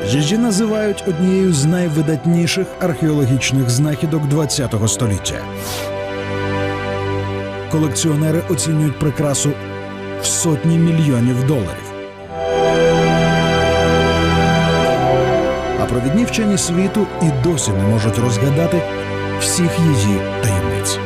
Її називають однією з найвидатніших археологічних знахідок ХХ століття. Колекціонери оцінюють прикрасу в сотні мільйонів доларів. А провідні вчені світу і досі не можуть розгадати всіх її таємниць.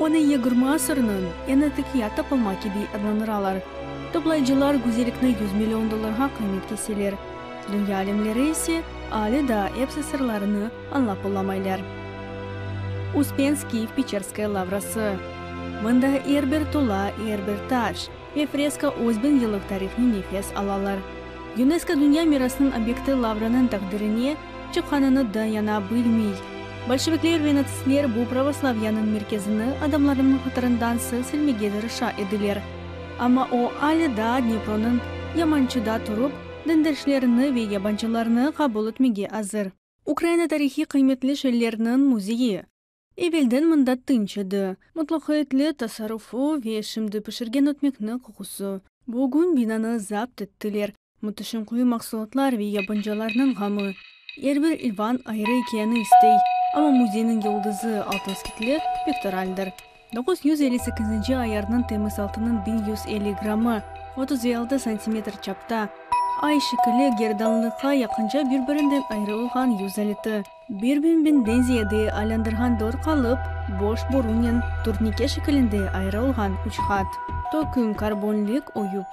Onı yigirmi asırnıñ eñ atiqiyat tapılma kibi adlandıralar. Toplayıcılar güzellikni yüz million dollarğa qıymet keseler. Dünya alimleri ise ale daa epsi sırlarını añlap olamaylar. Uspenskiy Peçerskaya lavrası. Mında er bir tula, er bir taş ve freska öz biñ yıllıq tarihnen nefes alalar. Yunesko Dünya mirasınıñ obyekti lavranıñ taqdirine çıqqanını da yana bilmey. Bolşevikler ve natsistler bu pravoslavyanıñ merkezini adamlarnıñ hatırından sil-silmege tırışa ediler. Amma o ale daa Dnepronıñ yamançıda turıp, dindaşlerini ve yabancılarnı qabul etmege azır. Ukraina tarihiy qıymetli şeylerniñ müzeyi. Evelden mında tınç edi, mutlaqiyetli tasarrufu ve şimdi pişirgen ötmekniñ qoqusı. Bugün binanı zapt ettiler, müteşem quyu mahsulatlar ve yabancılarnıñ ğamı. Er bir ilvan ayrı ikâyeni istey, amma müzeyniñ yıldızı, altın skitli pektoraldir. 958-nci ayarnıñ temiz altınıñ 1150 grammı, 36 santimetr çapta, ay şekilli gerdanlıqqa yaqınca bir-birinden ayrı olğan yüz aleti. Bir biñ biñden ziyade aylandırğan dört qalıp, boş borunen turnike şekilinde ayrılğan üç qat, töküm karbonlik oyup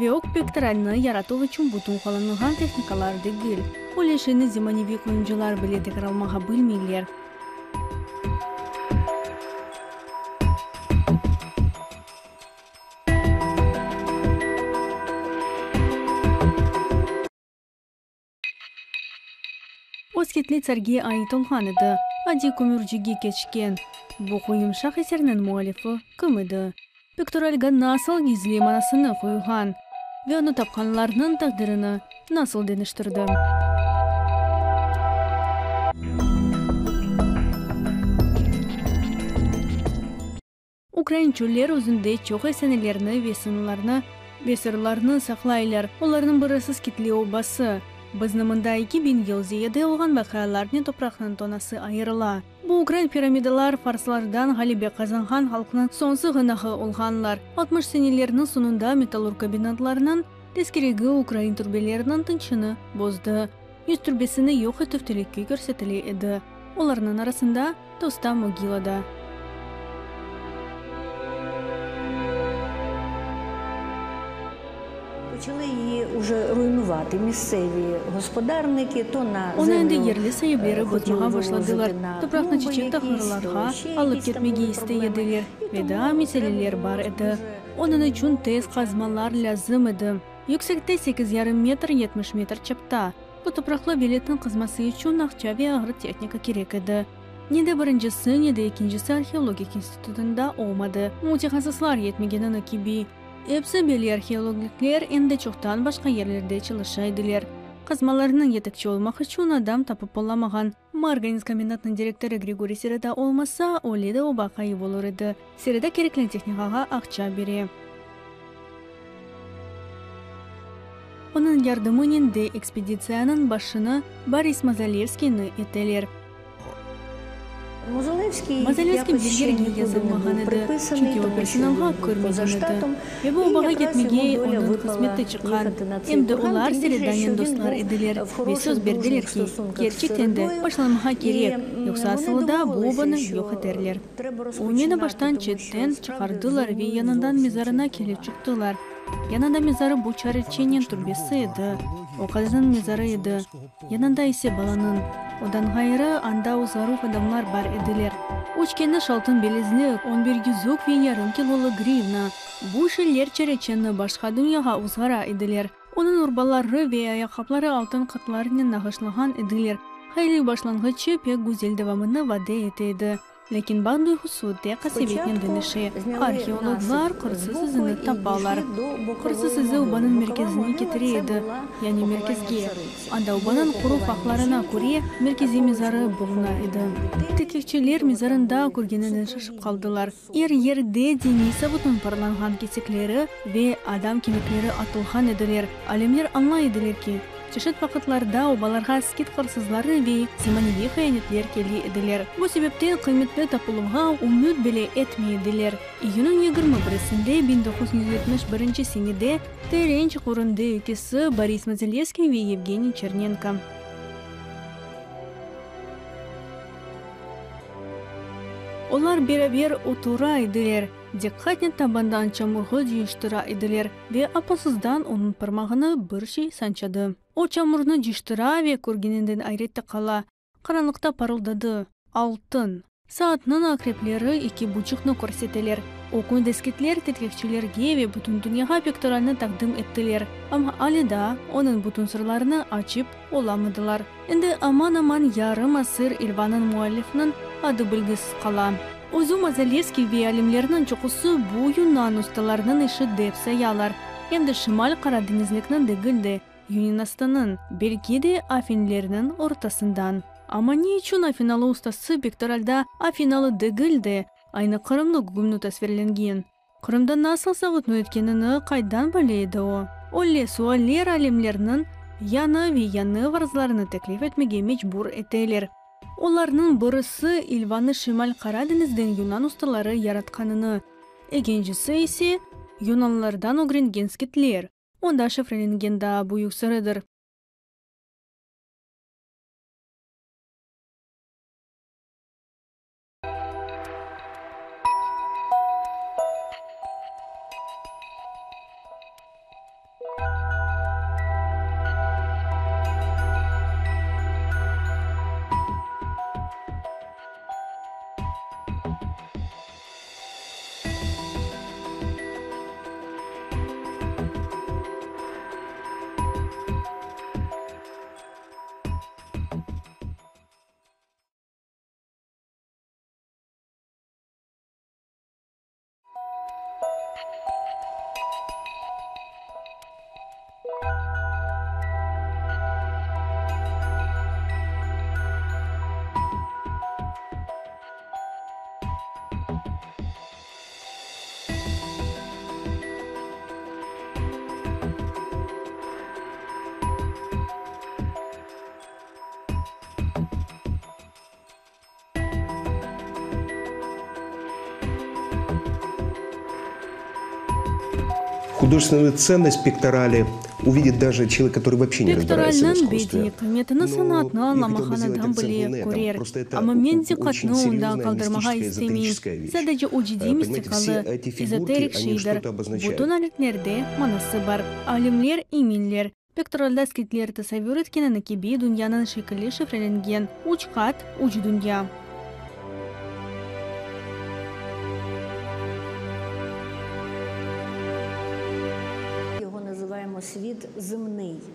ve ög pektoralni yaratuv içün bütün qullanılğan tehnikalar degil, öyle şeyni zemaneviy quyumcılar bile tekrarlamağa bilmeyler. O skitli tsarge ait olğan edi, adiy kömürcige keçken. Bu quyumşaq eserniñ müellifi kim edi? Piktoralga nasıl gizli manasını qoyğan ve onı tapqanlarnıñ taqdirini nasıl deñiştirdi? Ukrain çöller özünde çoq efsanelerni ve sınlarnı ve sırlarnı saqlaylar. Olarnıñ birisi Skitli obası. Bizni mında 2000 yıl ziyade olğan vaqialarnen topraqnıñ tonası ayırıla. Bu ukrain piramidalar farslardan ğalebe qazanğan halqnıñ soñ sığınağı olğanlar. 60 senelerniñ soñunda metallurg kombinatlarınıñ tezkeregi ukrain türbeleriniñ tınçını bozdı. Yüz türbesini yoq etüv telüke körsetile edi. Olarnıñ arasında Tosta mogila da. Почали її уже руйнувати місцеві господарники, то на Onı endi землю yerli saipleri хотіли bozmağa вивозити başladılar, на topraqnı клумби çeçek якісь, то tahırlarğa ще alıp якісь там ketmege були istey проблеми. ediler І ve тому daa треба meseleler було bar edi. дуже Onıñ içün tez qazmalar lâzim edi. Yüksekte sekiz yarım metr, 70 metr çapta. Bu topraqlı veletniñ qazması içün aqça ve ağır tehnika kerek edi. Ne de birincisi, ne de ekincisi arheologik institutında olmadı, mütehassıslar yetmegenini kibi. Episi belli arheologikler endi çoqtan başqa yerlerde çalışa ediler. Qazmalarnıñ yetekçi olmaq içün adam tapıp olamağan. Marganets kombinatınıñ direktorı Grigoriy Sereda olmasa, öyle de oba ğayıp olur edi. Sereda kerekli tehnikağa aqça bere. Onıñ yardımınen de ekspeditsiyanıñ başını Boris Mozalevskiyni eteler. Mozalevskiy Mozalevskiy якось bir ще yerge нікуди не yazılmağan був edi, приписаний, çünki o тому що personalğa він був поза kirmegen edi. штатом. Ve bu І obağa якраз йому ketmege доля onıñ випала qısmeti çıqqan. їхати на цей Em de курган, olar тим більше, Seredanen що він dostlar був ediler в ve хороших söz berdiler дружніх ki, стосунках з kerçekten de Середою. başlanmağa І kerek, yoqsa вони asılı da bu домовилися, obanı що yoq eterler. треба O meni розпочинати, baştan тому що çetten справді çıqardılar ve зруйнують yanından зовсім mezarına цей kelip курган. çıqtılar. Yanında mezarı bu çareçenen türbesi edi, o qadınnıñ mezarı edi, yanında ise balanıñ. Ondan ğayrı, anda uzaruv adamlar bar ediler. Üç keniş altın bilezlik, on bir yüzük ve yarım kilolıq grivna. Bu şeyler çareçeni başqa dünyağa uzğara ediler. Onıñ urbaları ve ayaqqapları altın qatlarnen nağışlağan ediler. Hayırlı başlanğıçı pek güzel devamını vade ete edi. Lâkin baht duyğusu tek qasevetnen deñişe. Arheologlar qırsız izini tapalar. Qırsız izi obanıñ merkezine ketire edi, yani merkezge. Anda obanıñ qoruv aqlarına köre merkeziy mezarı buluna edi. Tedqiqçiler mezarında körgeninden şaşıp qaldılar. Er yerde diniy savutnıñ parlanğan kesekleri ve adam kemikleri atılğan ediler. Alimler añlay ediler ki, çeşit vaqıtlarda obalarğa skit qırsızları ve zemaneviy hıyanetler kele ediler. Bu sebepten qıymetli tapıluvğa ümüt bile etmey ediler. İyünniñ yigirmi birisinde 1971 senede teren çuqurında ekisi Boris Mazalevskiy ve Yevgeniy Çernenko. Olar beraber otura ediler, diqqatnen tabandan çamurğı cıyıştıra ediler ve apasızdan onıñ parmağını bir şey sançadı. O çamurnı cıyıştıra ve körgeninden ayrette qala, qaranlıqta parıldadı, altın! Saatnıñ aqrepleri eki buçuqnı körseteler. O kün deskitler tedqiqçilerge ve bütün dünyağa pektoralnı taqdim ettiler, amma ale daa onıñ bütün sırlarını açıp olamadılar. Endi aman-aman yarım asır İlvanıñ müellifiniñ adı bilgisiz qala. Özü Mazalevskiy ve alimlerniñ çoqusı bu yunan ustalarınıñ işi dep sayalar, em de Şimal Qara deñizlikniñ degil de, Yunanıstannıñ, belki de Afinlerniñ ortasından. Amma ne içün afinalı ustası pektoralda afinalı degil de, aynı qırımlı gügümni tasvirlengen? Qırımda nasıl savutnı etkenini qaydan bile edi o? Öyle sualler alimlerniñ yañı ve yañı varzlarını teklif etmege mecbur eteler. Olarnıñ birisi İlvanı Şimal Qara deñizden yunan ustaları yaratqanını, ekincisi ise, yunanlardan ögrengen skitler, onda şifrelengen daa büyük sırıdır. Художественную ценность пекторали увидит даже человек, который вообще не разбирается в Pektoralniñ искусстве. bediiy qıymetini sanatnı añlamağan adam bile körer. Amma men diqqatnı onda qaldırmağa istemeyim. Sadece o ciddiy mistikalı, ezoterik şeydir. Bütün aletlerde manası bar. Alimler eminler, Pektoralda skitler tasavvür etkenini kibi dünyanıñ şekili şifrelengen, üç qat, üç dünya.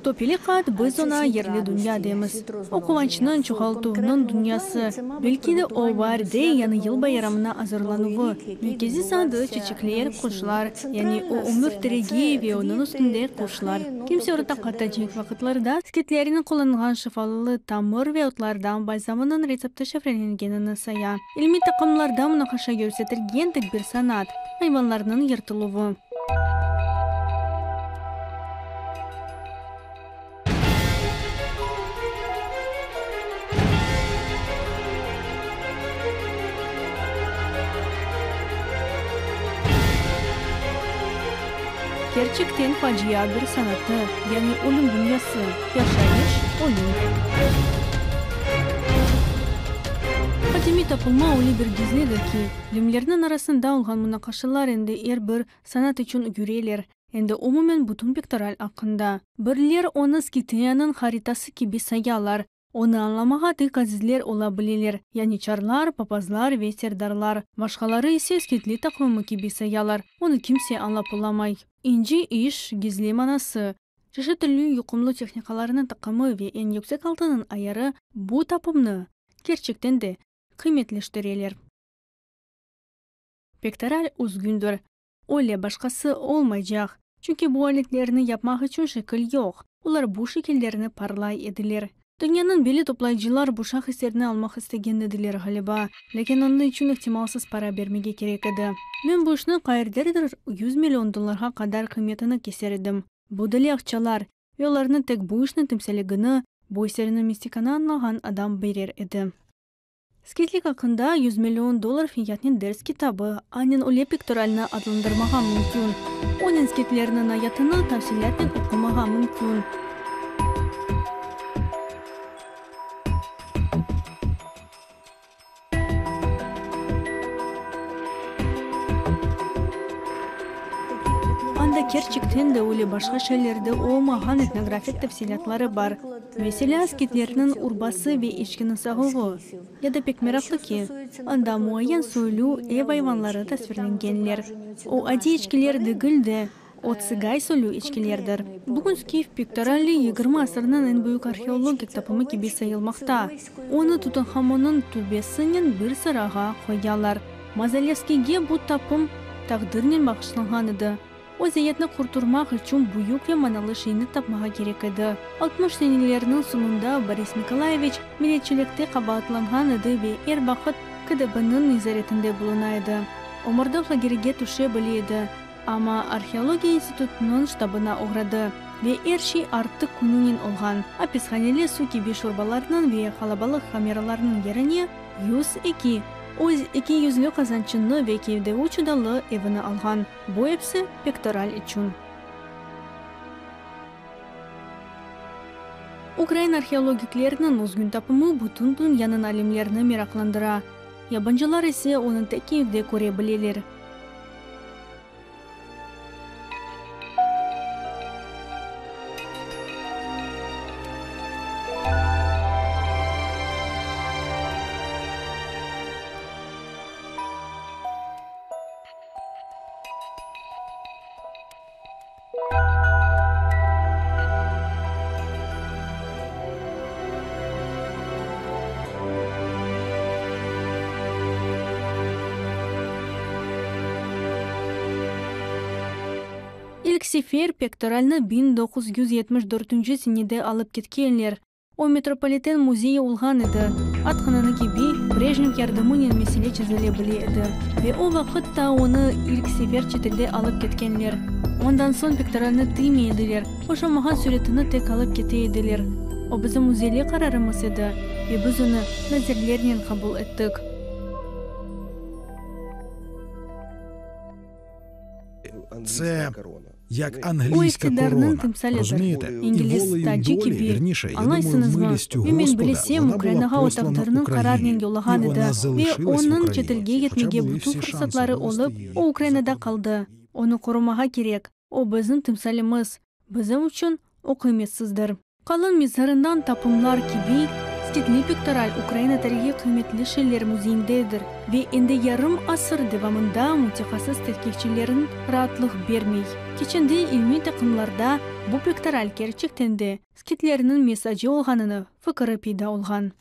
Töpeli qat, biz oña yerli dünya deymiz. O quvançnıñ, çoğaltuvnıñ dünyası. Belki de o, baarde Yañı yıl bayramına azırlanuvı. Merkeziy sandı, çiçekler, quşlar, yani o ömür teregi ve onıñ üstünde quşlar. Kimse orta qatta cenk vaqıtlarda skitlerniñ qullanğan şifalı tamır ve otlardan balzamınıñ retsepti şifrelengenini saya. İlmiy taqımlarda munaqaşa yürsetilgen tek bir sanat, ayvanlarnıñ yırtıluvı. Kerçekten facia bir sanatı, yani ölüm dünyası, yaşayış, ölüm. Qadimiy tapılma öyle bir gizlidir ki, limlerniñ arasında olğan munaqaşalar endi er bir sanat içün yüreler, Endi umumen bütün pektoral aqqında. Birler onı Skitiyanıñ haritası kibi sayalar, onı añlamağa tek azizler ola bileler, yani çarlar, papazlar ve serdarlar. Başqaları ise skitli taqvimi kibi sayalar, onı kimse añlap olamay. İnci iş, gizli manası. Çeşit türlü yuqumlı tehnikalarnıñ taqımı ve eñ yüksek altınıñ ayarı bu tapımnı, kerçekten de, qıymetleştireler. Pektoral üzgündir. Öyle başqası olmaycaq, çünki bu aletlerni yapmaq içün şekil yoq, olar bu şekillerni parlay ediler. Dünyanıñ belli toplayıcılar bu şah eserini almaq istegen ediler, ğaliba, lâkin onıñ içün ihtimalsız para bermege kerek edi. Men bu işni qayerdedir 100 million dollarğa qadar qıymetini keser edim. Bu deli aqçalar, ve olarnı tek bu işniñ timsalligini, bu eserniñ mistikanı añlağan adam berer edi. Skitlik aqqında 100 million dollar fiyatnen ders kitabı, anen öyle pektoralnı adlandırmağa mümkün. Onen skitlerniñ ayatını tafsilâtnen oqumağa mümkün. Anda kerçekten de öyle başqa şeylerde olmağan etnografik tafsilâtları bar. Meselâ, skitlerniñ urbası ve eçkini sağuvı. Ya da pek meraqlı ki, anda muayyen soylu ev ayvanları tasvirlengenler. O adiy eçkiler degil de, o tsıgay soylu eçkilerdir. Bugün skif pektorali 20 asırnıñ eñ büyük arheologik tapımı kibi sayılmaqta. Onı Tutanhamonnıñ türbesinen bir sırağa qoyalar. Mazalevskiyge bu tapım taqdirnen bağışlanğan edi. Vaziyetni qurturmaq içün büyük ve manalı şeyni tapmağa kerek edi. 60 senelerniñ soñunda Boris Nikolayeviç milletçilikte qabaatlanğan edi ve er vaqıt KDBniñ nezaretinde buluna edi. O Mordov lagerige tüşe bile edi, amma Arheologiya institutınıñ ştabına oğradı ve er şey artıq kününen olğan apishaneli suv kibi şorbalarnıñ ve qalabalıq kameralarnıñ yerine 102 öz eki yüzlü qazançını ve Kiyevde üç odalı evini alğan. Bu episi pektoral içün. Ukrain arheologikleriniñ özgün tapımı bütün dünyanıñ alimlerini meraqlandıra. Yabancılar ise onı tek Kiyevde köre bileler. İlk sefer pektoralnı 1974 senede alıp ketkenler. O metropoliten müzeyi olğan edi. Aytqanını kibi, Brejnev yardımınen mesele çezile bile edi. Ve o vaqıt ta onı ilk sefer çetelde alıp ketkenler. Ondan soñ pektoralnı tiymey ediler, oşamağan süretini tek alıp kete ediler. O bizim müzeyli qararımız edi ve biz onı nazirlernen qabul ettik. Це як O англійська iqtidarnıñ корона. timsalidir. Розумієте? І İngiliz волею tacı долі, kibi, вірніше, я думаю, añlaysıñızmı? милістю Ve men Господа, bilesem, вона була Ukrainağa o послана taqdirniñ qararnen Україні. yollağan І edi вона ve залишилась в onıñ Україні. çetelge Хоча ketmege були bütün всі шанси fırsatları вивести olıp, її o за Ukrainada кордон. qaldı. Onı qorumağa kerek. O bizim timsalimiz. Bizim içün o qıymetsizdir. Qalın mezarından tapımlar kibi, skitli pektoral Ukraina tarihiy qıymetli şeyler müzeyindedir ve endi yarım asır devamında mütehassıs tedqiqçilerniñ raatlıq bermey. Keçende ilmiy taqımlarda bu pektoral kerçekten de skitlerniñ mesacı olğanını fikri peyda olğan.